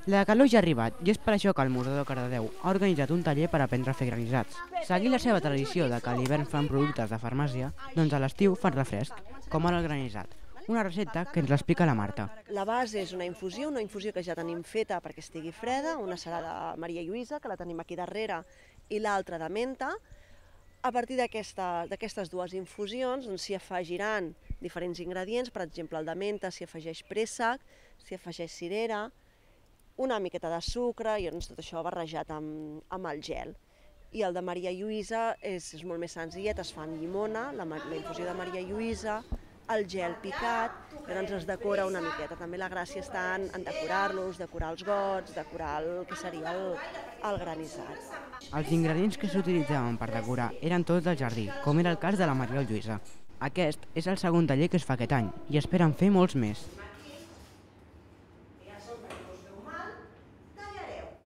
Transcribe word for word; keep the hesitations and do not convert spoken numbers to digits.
La calor ja ha arribat i és per això que el Museu de Cardedeu ha organitzat un taller per aprendre a fer granissats. Seguint la seva tradició de que a l'hivern fan productes de farmàcia, doncs a l'estiu fan refresc, com ara el granissat. Una recepta que ens l'explica la Marta. La base és una infusió, una infusió que ja tenim feta perquè estigui freda, una serà de Maria Lluïsa, que la tenim aquí darrere, i l'altra de menta. A partir d'aquestes dues infusions s'hi afegiran diferents ingredients, per exemple el de menta s'hi afegeix préssec, s'hi afegeix cirera, una miqueta de sucre i doncs tot això barrejat amb, amb el gel. I el de Maria Lluïsa és, és molt més senzillet, es fa amb llimona, la, la infusió de Maria Lluïsa, el gel picat, i doncs es decora una miqueta. També la gràcia està en, en decorar-los, decorar els gots, decorar el que seria el, el granissat. Els ingredients que s'utilitzaven per decorar eren tots del jardí, com era el cas de la Maria Lluïsa. Aquest és el segon taller que es fa aquest any i esperen fer molts més.